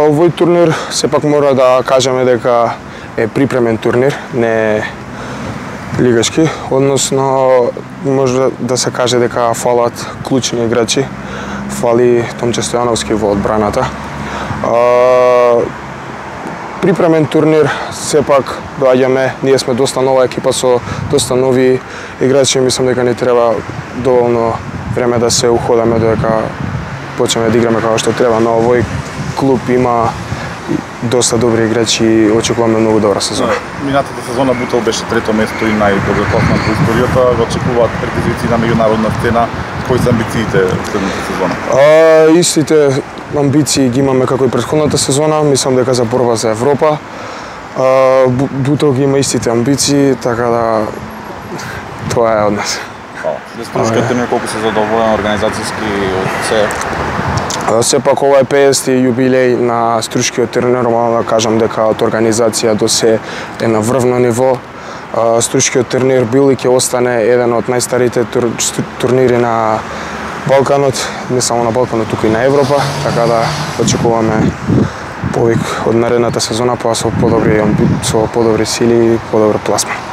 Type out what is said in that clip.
Овој турнир сепак мора да кажеме дека е припремен турнир, не е лигашки, односно може да се каже дека фалат клучни играчи, фали Томче Стојановски во одбраната. Припремен турнир, сепак доаѓаме, ние сме доста нова екипа со доста нови играчи, мислам дека ни треба доволно време да се уходаме додека почнеме да играме како што треба, но овој клуб има доста добри играчи и очекуваме многу добра сезона. Минатата сезона Бутел беше трето место и најдобро класман во историјата. Го очекуваат претезвици на меѓународна сцена. Кои се амбициите следната сезона? Истите амбиции ги имаме како и претходната сезона. Мислам дека за борба за Европа. Бутел ги има истите амбиции, така да тоа е од нас. Струшкиот турнир колку се задоволен организацијски од се? Сепак ова е 50-ти јубилеј на Струшкиот турнир, нормално да кажам дека од организација до се е на врвно ниво. Струшкиот турнир бил и ќе остане еден од најстарите турнири на Балканот, не само на Балканот, туку и на Европа, така да очекуваме повик од наредната сезона, па со подобри сили и подобра пласма.